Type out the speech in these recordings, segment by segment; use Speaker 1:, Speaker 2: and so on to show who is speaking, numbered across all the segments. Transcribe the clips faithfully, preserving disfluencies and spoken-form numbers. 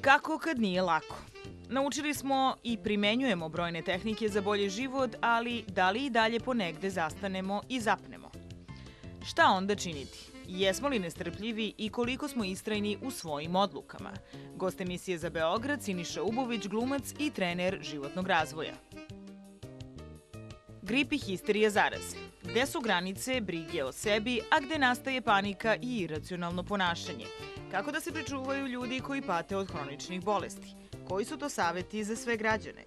Speaker 1: Kako kad nije lako? Naučili smo i primenjujemo brojne tehnike za bolji život, ali da li i dalje ponegde zastanemo i zapnemo? Šta onda činiti? Jesmo li nestrpljivi i koliko smo istrajni u svojim odlukama? Gost emisije za Beograd Siniša Ubović, glumac i trener životnog razvoja. Grip i histerija zaraze. Gde su granice brige o sebi, a gde nastaje panika i iracionalno ponašanje? Kako da se pričuvaju ljudi koji pate od hroničnih bolesti? Koji su to saveti za sve građane?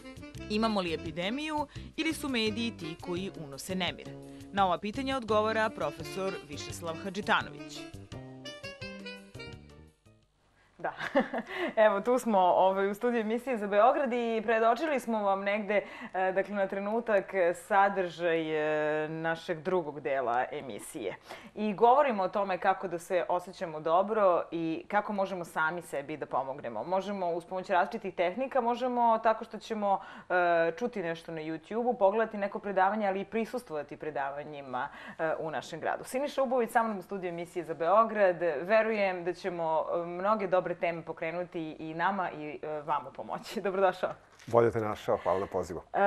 Speaker 1: Imamo li epidemiju ili su mediji ti koji unose nemir? Na ova pitanja odgovara profesor Višeslav Hadžitanović. Da, evo tu smo ovaj, u studiju emisije za Beograd i predočili smo vam negde, dakle na trenutak, sadržaj našeg drugog dela emisije. I govorimo o tome kako da se osjećamo dobro i kako možemo sami sebi da pomognemo. Možemo uz pomoć različitih tehnika, možemo tako što ćemo uh, čuti nešto na YouTube-u, pogledati neko predavanje, ali i prisustvovati predavanjima uh, u našem gradu. Siniša Ubović sa mnom u studiju emisije za Beograd. Verujem da ćemo mnoge dobre teme pokrenuti i nama i uh, vama pomoći. Dobrodošao.
Speaker 2: Bolje te našao, hvala na pozivu.
Speaker 1: Uh,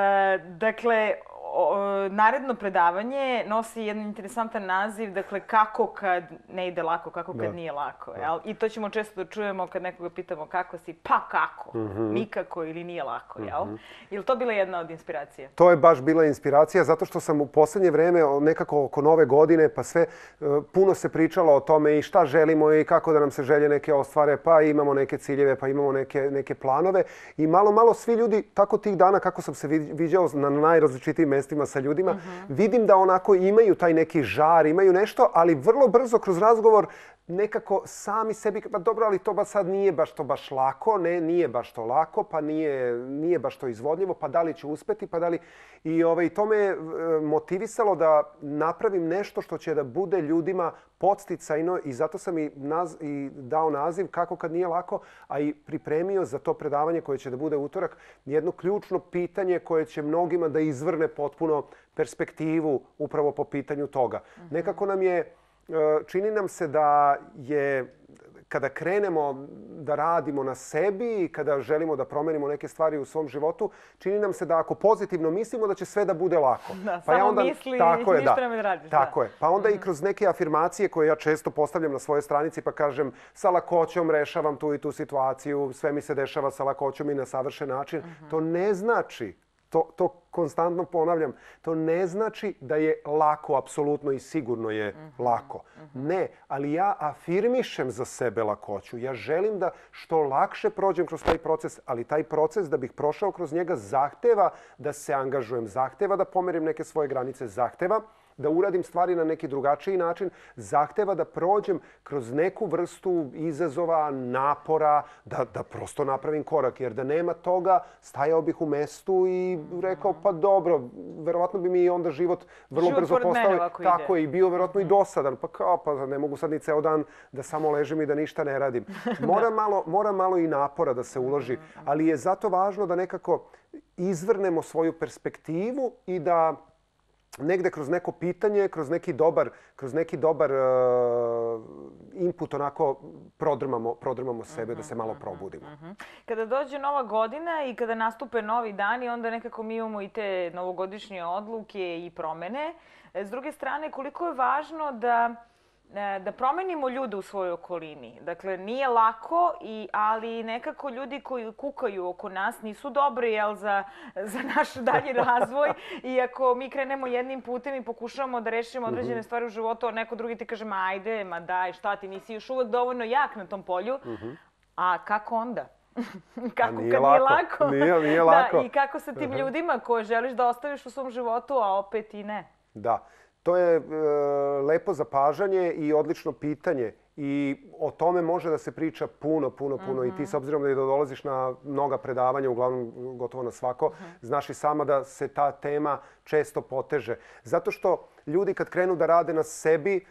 Speaker 1: dakle, o, naredno predavanje nosi jedan interesantan naziv, dakle, kako kad ne ide lako, kako kad da. nije lako. Jel? I to ćemo često da čujemo kad nekoga pitamo kako si, pa kako, mm-hmm. nikako ili nije lako. Jel? Mm-hmm. Je li to bila jedna od inspiracija?
Speaker 2: To je baš bila inspiracija, zato što sam u poslednje vreme, nekako oko nove godine, pa sve, puno se pričalo o tome i šta želimo i kako da nam se želje neke ostvare, pa imamo neke ciljeve, pa imamo neke, neke planove. I malo, malo svi ljudi, tako tih dana kako sam se viđao na najrazličitijim mestima sa ljudima, uh-huh. vidim da onako imaju taj neki žar, imaju nešto, ali vrlo brzo kroz razgovor nekako sami sebi, pa dobro, ali to ba sad nije baš to baš lako, ne, nije baš to lako, pa nije, nije baš to izvodljivo, pa da li ću uspeti, pa da li... I ovaj, to me je motivisalo da napravim nešto što će da bude ljudima podsticajno i zato sam i, naz, i dao naziv Kako kad nije lako, a i pripremio za to predavanje koje će da bude utorak jedno ključno pitanje koje će mnogima da izvrne potpuno perspektivu upravo po pitanju toga. Mm-hmm. Nekako nam je, čini nam se da je, kada krenemo da radimo na sebi i kada želimo da promenimo neke stvari u svom životu, čini nam se da ako pozitivno mislimo da će sve da bude lako.
Speaker 1: Da,
Speaker 2: pa
Speaker 1: samo
Speaker 2: ja onda,
Speaker 1: misli
Speaker 2: tako
Speaker 1: i
Speaker 2: je,
Speaker 1: ništa
Speaker 2: da,
Speaker 1: ne radiš.
Speaker 2: Tako
Speaker 1: da.
Speaker 2: je. Pa onda
Speaker 1: mm-hmm.
Speaker 2: i kroz neke afirmacije koje ja često postavljam na svojoj stranici pa kažem sa lakoćom rešavam tu i tu situaciju, sve mi se dešava sa lakoćom i na savršen način. Mm-hmm. To ne znači, to, to konstantno ponavljam, to ne znači da je lako, apsolutno i sigurno je mm-hmm. lako. Mm-hmm. Ne, ali ja afirmišem za sebe lakoću. Ja želim da što lakše prođem kroz taj proces, ali taj proces da bih prošao kroz njega zahteva da se angažujem, zahteva da pomerim neke svoje granice, zahteva da uradim stvari na neki drugačiji način, zahteva da prođem kroz neku vrstu izazova, napora, da, da prosto napravim korak. Jer da nema toga, stajao bih u mestu i rekao, pa dobro, verovatno bi mi onda život vrlo
Speaker 1: život
Speaker 2: brzo postao tako
Speaker 1: ide.
Speaker 2: i bio verovatno mm-hmm. i dosadan. Pa kao, pa ne mogu sad ni ceo dan da samo ležim i da ništa ne radim. Mora, malo, mora malo i napora da se uloži, ali je zato važno da nekako izvrnemo svoju perspektivu i da negde kroz neko pitanje, kroz neki dobar, kroz neki dobar uh, input onako prodrmamo, prodrmamo sebe, uh-huh, da se malo probudimo.
Speaker 1: Uh-huh. Kada dođe nova godina i kada nastupe novi dani, onda nekako mi imamo i te novogodišnje odluke i promene. S druge strane, koliko je važno da da promenimo ljude u svojoj okolini. Dakle, nije lako, i, ali nekako ljudi koji kukaju oko nas nisu dobri, jel, za, za naš dalji razvoj. I ako mi krenemo jednim putem i pokušavamo da rešimo određene uh-huh. stvari u životu, a neko drugi ti kaže, ma ajde, ma daj, šta ti, nisi još uvek dovoljno jak na tom polju. Uh-huh. A kako onda? Kako
Speaker 2: nije
Speaker 1: kad
Speaker 2: lako.
Speaker 1: nije lako?
Speaker 2: Nije, nije lako.
Speaker 1: Da, i kako sa tim uh-huh. ljudima koje želiš da ostaviš u svom životu, a opet i ne?
Speaker 2: Da. To je e, lepo zapažanje i odlično pitanje i o tome može da se priča puno, puno, puno. Mm-hmm. I ti s obzirom da i dolaziš na mnoga predavanja, uglavnom gotovo na svako, mm-hmm. znaš i sama da se ta tema često poteže. Zato što ljudi kad krenu da rade na sebi,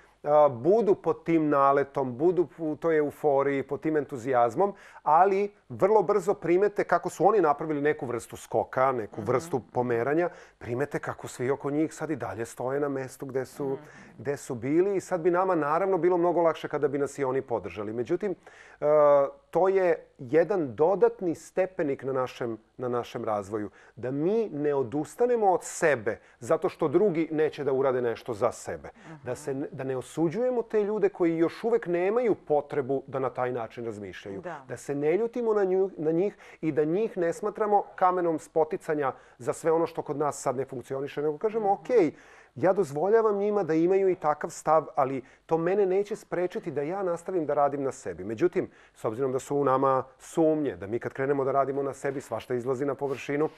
Speaker 2: budu pod tim naletom, budu u toj euforiji, pod tim entuzijazmom, ali vrlo brzo primete kako su oni napravili neku vrstu skoka, neku vrstu pomeranja, primete kako svi oko njih sad i dalje stoje na mestu gde su, gde su bili i sad bi nama naravno bilo mnogo lakše kada bi nas i oni podržali. Međutim, to je jedan dodatni stepenik na našem, na našem razvoju. Da mi ne odustanemo od sebe zato što drugi neće da urade nešto za sebe. Da, se, da ne osuđujemo te ljude koji još uvek nemaju potrebu da na taj način razmišljaju.
Speaker 1: Da,
Speaker 2: da se ne ljutimo na, nju, na njih i da njih ne smatramo kamenom spoticanja za sve ono što kod nas sad ne funkcioniše. Nego kažemo, ok, ja dozvoljavam njima da imaju i takav stav, ali to mene neće sprečiti da ja nastavim da radim na sebi. Međutim, s obzirom da su u nama sumnje, da mi kad krenemo da radimo na sebi, svašta izlazi na površinu,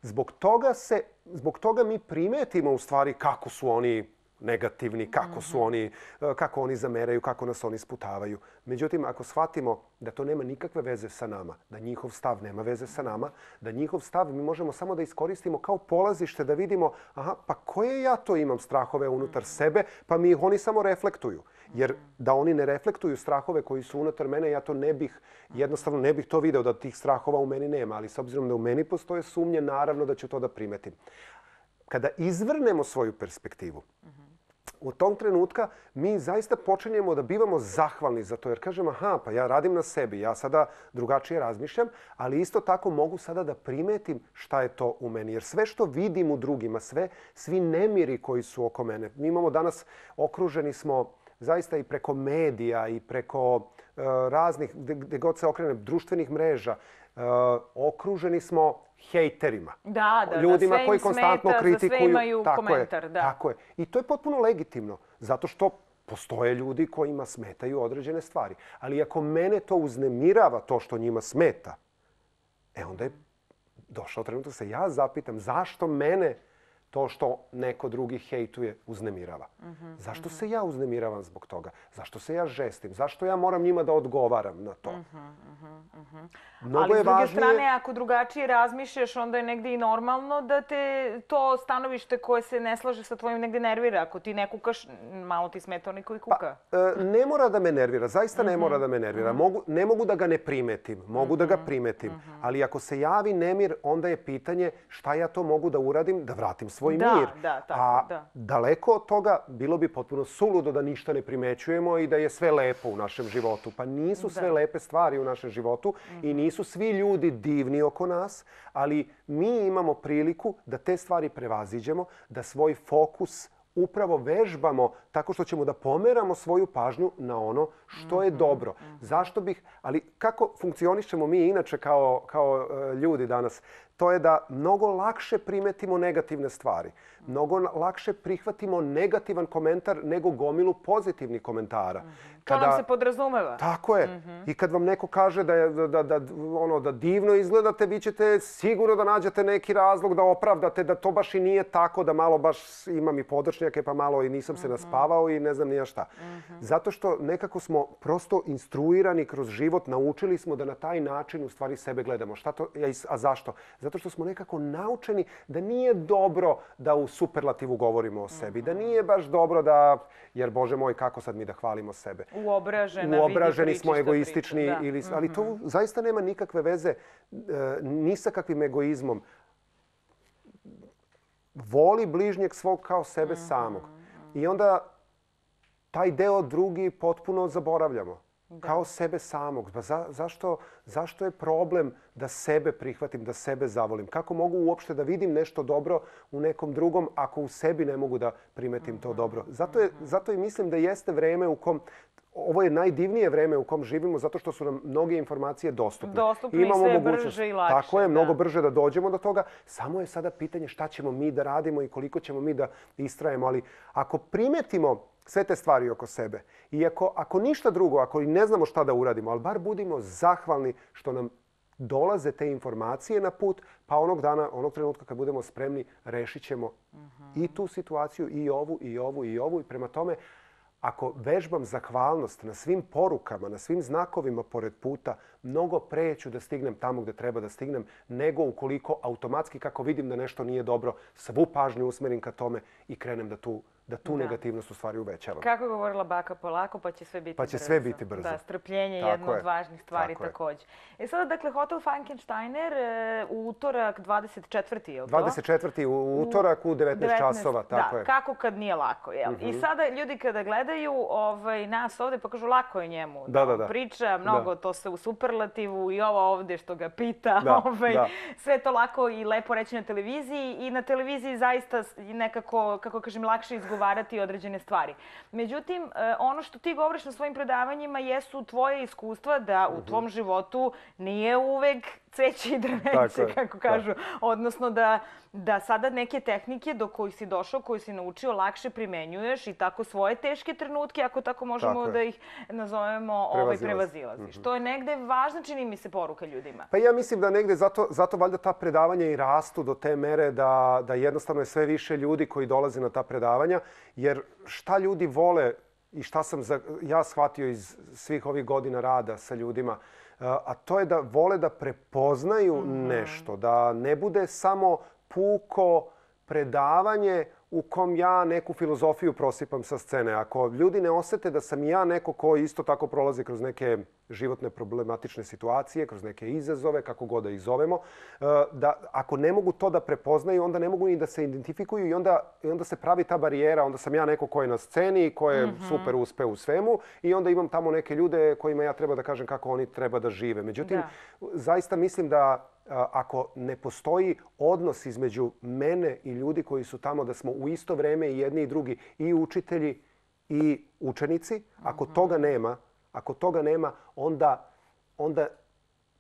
Speaker 2: zbog toga, se, zbog toga mi primetimo u stvari kako su oni negativni, kako su oni, kako oni zameraju, kako nas oni sputavaju. Međutim, ako shvatimo da to nema nikakve veze sa nama, da njihov stav nema veze sa nama, da njihov stav mi možemo samo da iskoristimo kao polazište da vidimo, aha, pa koje ja to imam strahove unutar sebe, pa mi ih oni samo reflektuju. Jer da oni ne reflektuju strahove koji su unutar mene, ja to ne bih, jednostavno ne bih to video da tih strahova u meni nema. Ali s obzirom da u meni postoje sumnje, naravno da ću to da primetim. Kada izvrnemo svoju perspektivu, u tom trenutka mi zaista počinjemo da bivamo zahvalni za to. Jer kažemo, aha, pa ja radim na sebi, ja sada drugačije razmišljam, ali isto tako mogu sada da primetim šta je to u meni. Jer sve što vidim u drugima, sve, svi nemiri koji su oko mene, mi imamo danas, okruženi smo zaista i preko medija i preko uh, raznih, gde god se okrene, društvenih mreža, uh, okruženi smo hejterima.
Speaker 1: Da, da,
Speaker 2: ljudima
Speaker 1: da, sve
Speaker 2: koji
Speaker 1: im
Speaker 2: konstantno
Speaker 1: smeta,
Speaker 2: kritikuju.
Speaker 1: za sve imaju
Speaker 2: tako
Speaker 1: komentar.
Speaker 2: Je,
Speaker 1: da.
Speaker 2: Tako je. I to je potpuno legitimno, zato što postoje ljudi kojima smetaju određene stvari. Ali ako mene to uznemirava, to što njima smeta, e onda je došao trenutak da se ja zapitam zašto mene to što neko drugi hejtuje uznemirava. Mm-hmm, Zašto mm-hmm. se ja uznemiravam zbog toga? Zašto se ja žestim? Zašto ja moram njima da odgovaram na to?
Speaker 1: Mm-hmm, mm-hmm.
Speaker 2: Mnogo
Speaker 1: Ali
Speaker 2: je
Speaker 1: s druge
Speaker 2: važnije...
Speaker 1: strane, ako drugačije razmišljaš, onda je negdje i normalno da te to stanovište koje se ne slaže sa tvojim negdje nervira. Ako ti ne kukaš, malo ti smeta onaj koji kuka.
Speaker 2: Pa, e, ne mora da me nervira. Zaista ne mm-hmm. mora da me nervira. Mogu, ne mogu da ga ne primetim. Mogu mm-hmm. da ga primetim. Mm-hmm. Ali ako se javi nemir, onda je pitanje šta ja to mogu da uradim, da vratim svoj
Speaker 1: da,
Speaker 2: mir.
Speaker 1: Da, tako,
Speaker 2: A
Speaker 1: da.
Speaker 2: daleko od toga bilo bi potpuno suludo da ništa ne primećujemo i da je sve lepo u našem životu. Pa nisu sve da. lepe stvari u našem životu mm-hmm. i nisu svi ljudi divni oko nas, ali mi imamo priliku da te stvari prevaziđemo, da svoj fokus upravo vežbamo tako što ćemo da pomeramo svoju pažnju na ono što je dobro. Zašto bih, ali kako funkcionišemo mi inače kao, kao ljudi danas? To je da mnogo lakše primetimo negativne stvari. Mnogo lakše prihvatimo negativan komentar nego gomilu pozitivnih komentara.
Speaker 1: Kada, to nam se podrazumeva.
Speaker 2: Tako je. Mm-hmm. I kad vam neko kaže da, je, da, da, ono, da divno izgledate, vi ćete sigurno da nađete neki razlog da opravdate da to baš i nije tako, da malo baš imam i podršnjake, pa malo i nisam mm-hmm. se naspavao i ne znam nija šta. Mm-hmm. Zato što nekako smo prosto instruirani kroz život, naučili smo da na taj način u stvari sebe gledamo. Šta to, a zašto? Zato što smo nekako naučeni da nije dobro da u superlativu govorimo o sebi. Mm-hmm. Da nije baš dobro da, jer Bože moj, kako sad mi da hvalimo sebe.
Speaker 1: Uobražena,
Speaker 2: Uobraženi smo, egoistični,
Speaker 1: priča,
Speaker 2: ili, ali to mm-hmm. zaista nema nikakve veze e, ni sa kakvim egoizmom. Voli bližnjeg svog kao sebe mm-hmm. samog. I onda taj deo drugi potpuno zaboravljamo. Da. Kao sebe samog. Pa za, zašto, zašto je problem da sebe prihvatim, da sebe zavolim? Kako mogu uopšte da vidim nešto dobro u nekom drugom ako u sebi ne mogu da primetim mm-hmm. to dobro? Zato, je, zato i mislim da jeste vreme u kom... Ovo je najdivnije vreme u kom živimo zato što su nam mnoge informacije dostupne.
Speaker 1: Dostupne i sve brže i lakše.
Speaker 2: Tako je,
Speaker 1: da.
Speaker 2: mnogo brže da dođemo do toga. Samo je sada pitanje šta ćemo mi da radimo i koliko ćemo mi da istrajemo. Ali ako primetimo sve te stvari oko sebe i ako, ako ništa drugo, ako i ne znamo šta da uradimo, ali bar budimo zahvalni što nam dolaze te informacije na put, pa onog dana, onog trenutka kad budemo spremni, rešit ćemo uh-huh. i tu situaciju, i ovu, i ovu, i ovu. I prema tome, ako vežbam zahvalnost na svim porukama, na svim znakovima pored puta, mnogo pre ću da stignem tamo gde treba da stignem, nego ukoliko automatski, kako vidim da nešto nije dobro, svu pažnju usmerim ka tome i krenem da tu da tu negativnost u stvari uvećavamo.
Speaker 1: Kako je govorila baka, polako, pa će sve biti brzo.
Speaker 2: Pa će sve biti brzo.
Speaker 1: Da, strpljenje je jedna od važnih stvari također. E sada, dakle, Hotel Frankensteiner u utorak dvadeset četvrti je li to?
Speaker 2: dvadeset četvrti u utorak u devetnaest časova, tako je.
Speaker 1: Da, kako kad nije lako, jel? I sada ljudi kada gledaju nas ovde pa kažu lako je njemu da priča, mnogo to se u superlativu i ovo ovde što ga pita, sve to lako i lepo reći na televiziji i na televiziji zaista nekako, kako kažem, lakše izgovarati određene stvari. Međutim, ono što ti govoriš na svojim predavanjima jesu tvoje iskustva da u tvom životu nije uvek cveće i drveće, kako kažu. Odnosno da sada neke tehnike do kojih si došao, koje si naučio, lakše primenjuješ i tako svoje teške trenutke, ako tako možemo da ih nazovemo, prevazilaziš. To je negde važna, čini mi se, poruka ljudima.
Speaker 2: Pa ja mislim da negde zato valjda ta predavanja i rastu do te mere da jednostavno je sve više ljudi koji dolaze na ta predavanja, jer šta ljudi vole i šta sam ja shvatio iz svih ovih godina rada sa ljudima, a to je da vole da prepoznaju nešto, da ne bude samo puko predavanje u kom ja neku filozofiju prosipam sa scene. Ako ljudi ne osete da sam ja neko ko isto tako prolazi kroz neke životne problematične situacije, kroz neke izazove, kako god da ih zovemo, da ako ne mogu to da prepoznaju, onda ne mogu ni da se identifikuju i onda se pravi ta barijera. Onda sam ja neko ko je na sceni, ko je super uspeo u svemu i onda imam tamo neke ljude kojima ja treba da kažem kako oni treba da žive. Međutim, zaista mislim da ako ne postoji odnos između mene i ljudi koji su tamo, da smo u isto vreme i jedni i drugi, i učitelji i učenici, ako toga nema, ako toga nema, onda, onda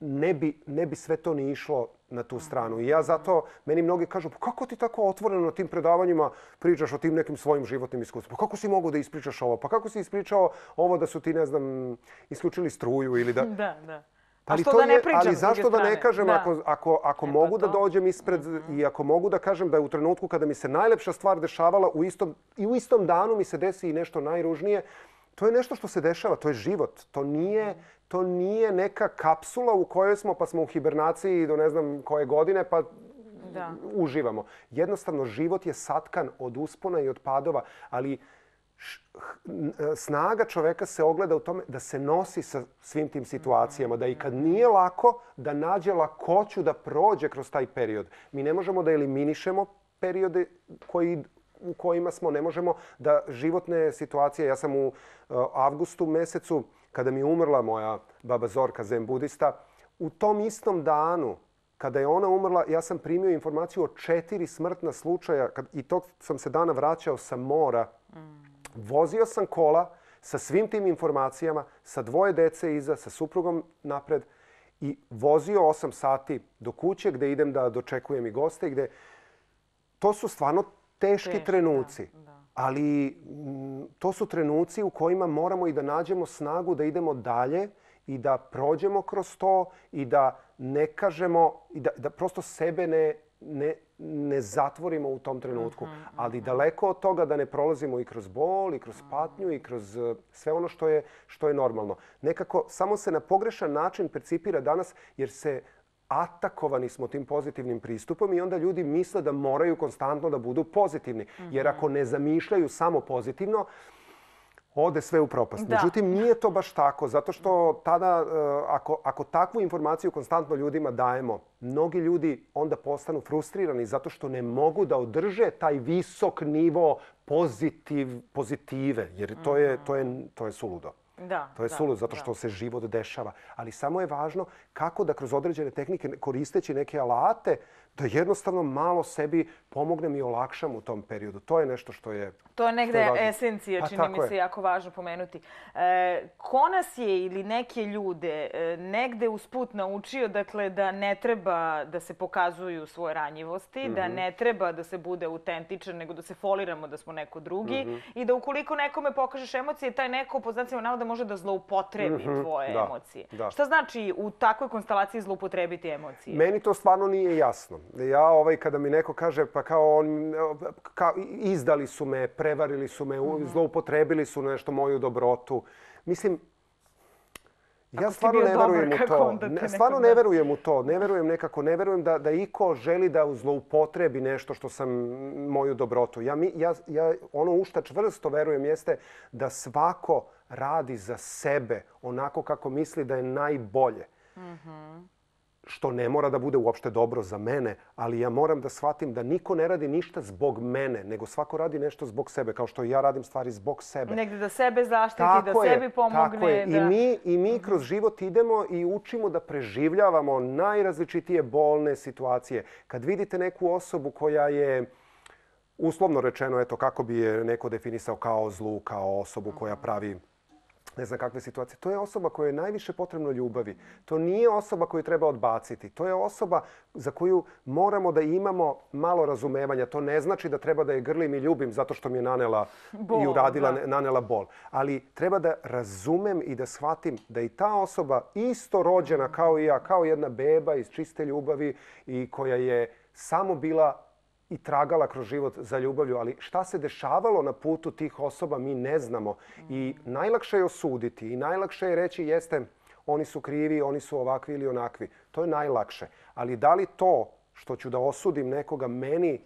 Speaker 2: ne bi, ne bi sve to ni išlo na tu stranu. I ja zato, meni mnogi kažu, pa kako ti tako otvoreno na tim predavanjima pričaš o tim nekim svojim životnim iskustvima? Pa kako si mogao da ispričaš ovo? Pa kako si ispričao ovo da su ti, ne znam, isključili struju ili da...
Speaker 1: Da, da.
Speaker 2: Ali, to je, ali zašto da ne kažem, da. ako, ako, ako e, mogu da dođem ispred mm-hmm. i ako mogu da kažem da je u trenutku kada mi se najlepša stvar dešavala u istom, i u istom danu mi se desi i nešto najružnije, to je nešto što se dešava, to je život. To nije, to nije neka kapsula u kojoj smo pa smo u hibernaciji do ne znam koje godine pa da. uživamo. Jednostavno, život je satkan od uspona i od padova, ali snaga čoveka se ogleda u tome da se nosi sa svim tim situacijama, da i kad nije lako, da nađe lakoću da prođe kroz taj period. Mi ne možemo da eliminišemo periode koji, u kojima smo, ne možemo da životne situacije, ja sam u uh, avgustu mesecu, kada mi je umrla moja baba Zorka, zen budista, u tom istom danu, kada je ona umrla, ja sam primio informaciju o četiri smrtna slučaja kad, i tog sam se dana vraćao sa mora. Vozio sam kola sa svim tim informacijama, sa dvoje dece iza, sa suprugom napred i vozio osam sati do kuće gde idem da dočekujem i goste. Gde... To su stvarno teški Teški, trenuci, da, da. ali m, to su trenuci u kojima moramo i da nađemo snagu da idemo dalje i da prođemo kroz to i da ne kažemo, i da, da prosto sebe ne, ne, ne zatvorimo u tom trenutku. Mm-hmm, ali mm-hmm. daleko od toga da ne prolazimo i kroz bol, i kroz patnju, i kroz sve ono što je, što je normalno. Nekako samo se na pogrešan način percipira danas jer se atakovani smo tim pozitivnim pristupom i onda ljudi misle da moraju konstantno da budu pozitivni. Mm-hmm. Jer ako ne zamišljaju samo pozitivno, ode sve u propast. Da. Međutim, nije to baš tako, zato što tada, ako, ako takvu informaciju konstantno ljudima dajemo, mnogi ljudi onda postanu frustrirani zato što ne mogu da održe taj visok nivo pozitiv, pozitive, jer to je, to je, to je suludo.
Speaker 1: Da,
Speaker 2: to je
Speaker 1: da,
Speaker 2: suludo zato
Speaker 1: da.
Speaker 2: što se život dešava. Ali samo je važno kako da kroz određene tehnike, koristeći neke alate, da jednostavno malo sebi pomognem i olakšam u tom periodu. To je nešto što je...
Speaker 1: To je negde je esencija, čini mi se jako važno pomenuti. E, ko nas je ili neke ljude e, negde usput naučio dakle, da ne treba da se pokazuju svoje ranjivosti, mm-hmm. da ne treba da se bude autentičan, nego da se foliramo da smo neko drugi mm-hmm. i da ukoliko nekome pokažeš emocije, taj neko po znacima navoda može da zloupotrebi mm-hmm. tvoje
Speaker 2: da,
Speaker 1: emocije.
Speaker 2: Da.
Speaker 1: Šta znači u takvoj konstelaciji zloupotrebiti emocije?
Speaker 2: Meni to stvarno nije jasno. Ja ovaj, kada mi neko kaže pa kao, on, kao izdali su me, prevarili su me, mm-hmm. zloupotrebili su nešto moju dobrotu. Mislim, Ja stvarno ne verujem u to. Ne, stvarno ne verujem u to. Ne verujem nekako, ne verujem da, da iko želi da zloupotrebi nešto što sam moju dobrotu. Ja, mi, ja, ja ono u šta čvrsto verujem jeste da svako radi za sebe onako kako misli da je najbolje. Mm-hmm. Što ne mora da bude uopšte dobro za mene, ali ja moram da shvatim da niko ne radi ništa zbog mene, nego svako radi nešto zbog sebe, kao što i ja radim stvari zbog sebe.
Speaker 1: Negde da sebe zaštiti, tako da je, sebi pomogne.
Speaker 2: Tako je.
Speaker 1: Da...
Speaker 2: I mi, i mi kroz život idemo i učimo da preživljavamo najrazličitije bolne situacije. Kad vidite neku osobu koja je, uslovno rečeno, eto kako bi je neko definisao kao zlu, kao osobu koja pravi ne znam kakve situacije. To je osoba koja je najviše potrebno ljubavi. To nije osoba koju treba odbaciti. To je osoba za koju moramo da imamo malo razumevanja. To ne znači da treba da je grlim i ljubim zato što mi je nanela bol, i uradila, da. nanela bol. Ali treba da razumem i da shvatim da i ta osoba isto rođena kao i ja, kao jedna beba iz čiste ljubavi i koja je samo bila i tragala kroz život za ljubavlju, ali šta se dešavalo na putu tih osoba mi ne znamo. I najlakše je osuditi i najlakše je reći jeste oni su krivi, oni su ovakvi ili onakvi. To je najlakše. Ali da li to što ću da osudim nekoga meni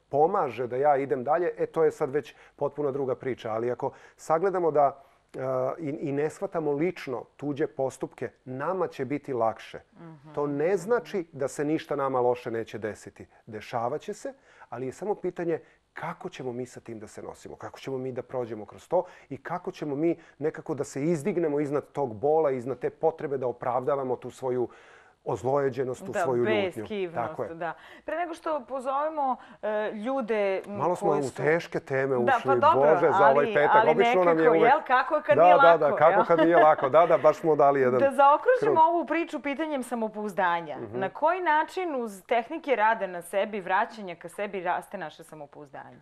Speaker 2: pomaže da ja idem dalje, e to je sad već potpuno druga priča. Ali ako sagledamo da Uh, i, i ne shvatamo lično tuđe postupke, nama će biti lakše. Mm-hmm. To ne znači da se ništa nama loše neće desiti. Dešavaće se, ali je samo pitanje kako ćemo mi sa tim da se nosimo, kako ćemo mi da prođemo kroz to i kako ćemo mi nekako da se izdignemo iznad tog bola, iznad te potrebe da opravdavamo tu svoju ozlojeđenost, tu
Speaker 1: da,
Speaker 2: svoju ljutnju.
Speaker 1: Tako je. Da. Pre nego što pozovemo uh, ljude
Speaker 2: malo smo
Speaker 1: koji
Speaker 2: u
Speaker 1: su...
Speaker 2: teške teme ušli,
Speaker 1: da, pa dobro,
Speaker 2: Bože, za
Speaker 1: ali,
Speaker 2: ovaj petak.
Speaker 1: ali
Speaker 2: Obično
Speaker 1: nekako,
Speaker 2: nam je uvek...
Speaker 1: jel, kako kad
Speaker 2: da,
Speaker 1: nije
Speaker 2: da,
Speaker 1: lako.
Speaker 2: Da, da, kako
Speaker 1: jel?
Speaker 2: kad nije lako. Da, da, baš smo dali jedan...
Speaker 1: Da zaokružimo
Speaker 2: krug.
Speaker 1: ovu priču pitanjem samopouzdanja.
Speaker 2: Mm-hmm.
Speaker 1: Na koji način uz tehnike rada na sebi, vraćanja ka sebi, raste naše samopouzdanje?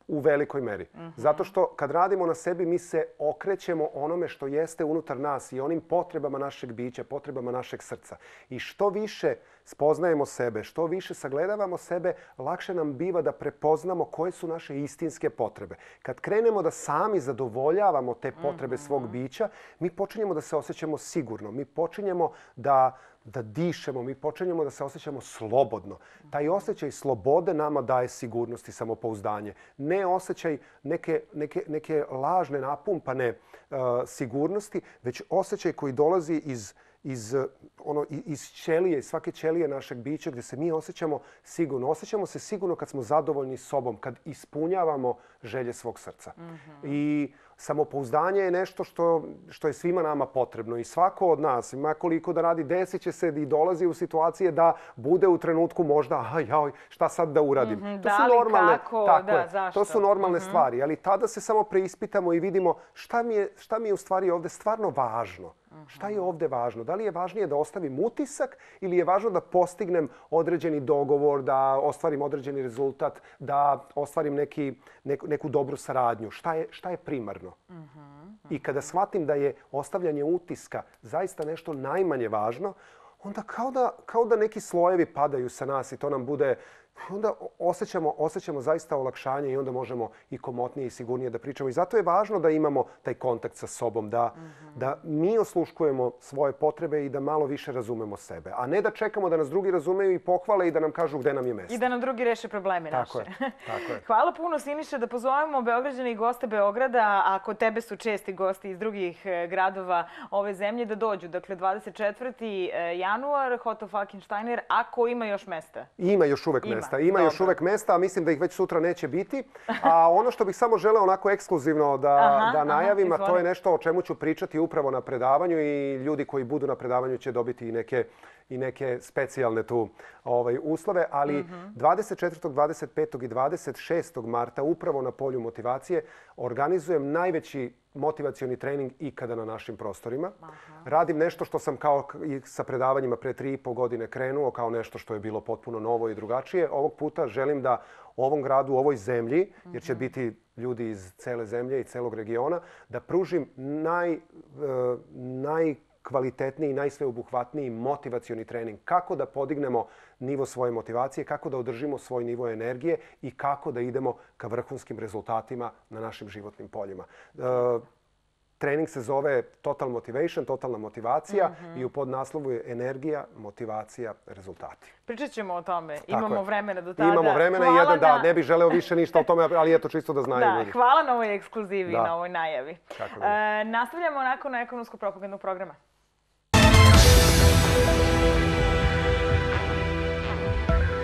Speaker 2: U velikoj meri. Mm-hmm. Zato što kad radimo na sebi, mi se okrećemo onome što jeste unutar nas i onim potrebama našeg bića, potrebama našeg srca. I što više spoznajemo sebe, što više sagledavamo sebe, lakše nam biva da prepoznamo koje su naše istinske potrebe. Kad krenemo da sami zadovoljavamo te potrebe mm-hmm. svog bića, mi počinjemo da se osjećamo sigurno. Mi počinjemo da da dišemo, mi počinjemo da se osjećamo slobodno. Taj osjećaj slobode nama daje sigurnost i samopouzdanje. Ne osjećaj neke, neke, neke lažne, napumpane uh, sigurnosti, već osjećaj koji dolazi iz, iz, ono, iz ćelije, iz svake ćelije našeg bića gdje se mi osjećamo sigurno. Osjećamo se sigurno kad smo zadovoljni sobom, kad ispunjavamo želje svog srca. Mm-hmm. I samopouzdanje je nešto što, što je svima nama potrebno i svako od nas, ima koliko da radi, desit će se i dolazi u situacije da bude u trenutku možda, aj, aj, šta sad da uradim.
Speaker 1: Mm-hmm,
Speaker 2: to
Speaker 1: da
Speaker 2: su
Speaker 1: li,
Speaker 2: normalne,
Speaker 1: kako,
Speaker 2: tako
Speaker 1: da,
Speaker 2: je,
Speaker 1: zašto?
Speaker 2: To su normalne
Speaker 1: mm-hmm.
Speaker 2: stvari, ali tada se samo preispitamo i vidimo šta mi je, šta mi je u stvari ovdje stvarno važno. Mm-hmm. Šta je ovdje važno? Da li je važnije da ostavim utisak ili je važno da postignem određeni dogovor, da ostvarim određeni rezultat, da ostvarim neki, neku, neku dobru saradnju? Šta je, šta je primarno? Mm-hmm. Mm-hmm. I kada shvatim da je ostavljanje utiska zaista nešto najmanje važno, onda kao da, kao da neki slojevi padaju sa nas i to nam bude... Onda osjećamo, osjećamo zaista olakšanje i onda možemo i komotnije i sigurnije da pričamo. I zato je važno da imamo taj kontakt sa sobom, da, mm-hmm. da mi osluškujemo svoje potrebe i da malo više razumemo sebe. A ne da čekamo da nas drugi razumeju i pohvale i da nam kažu gde nam je mesto.
Speaker 1: I da nam drugi reše probleme
Speaker 2: tako
Speaker 1: naše.
Speaker 2: Je, tako je.
Speaker 1: Hvala puno, Siniša, da pozovemo Beograđane i goste Beograda, a kod tebe su česti gosti iz drugih gradova ove zemlje, da dođu. Dakle, dvadeset četvrti januar, Hotel Falkensteiner, ako ima još mesta.
Speaker 2: Ima još uvek mesta. Ima Dobro. još uvek mesta, a mislim da ih već sutra neće biti. A ono što bih samo želeo onako ekskluzivno da, aha, da najavim, aha, a to je nešto o čemu ću pričati upravo na predavanju i ljudi koji budu na predavanju će dobiti i neke, i neke specijalne tu ovaj, uslove. Ali mm-hmm. dvadeset četvrtog, dvadeset petog i dvadeset šestog marta upravo na polju motivacije organizujem najveći motivacioni trening ikada na našim prostorima. Aha. Radim nešto što sam kao i sa predavanjima pre tri i po godine krenuo kao nešto što je bilo potpuno novo i drugačije. Ovog puta želim da ovom gradu, ovoj zemlji, jer će biti ljudi iz cele zemlje i celog regiona, da pružim naj, najkvalitetniji i najsveobuhvatniji motivacioni trening. Kako da podignemo nivo svoje motivacije, kako da održimo svoj nivo energije i kako da idemo ka vrhunskim rezultatima na našim životnim poljima. Trening se zove Total Motivation, totalna motivacija i u podnaslovu je energija, motivacija, rezultati.
Speaker 1: Pričat ćemo o tome. Imamo vremena do tada.
Speaker 2: Imamo vremena i jedan da, ne bih želeo više ništa o tome, ali eto čisto da znaju ljudi.
Speaker 1: Da, hvala na ovoj ekskluzivi, na ovoj najavi. Nastavljamo nakon ekonomskog propagandnog programa.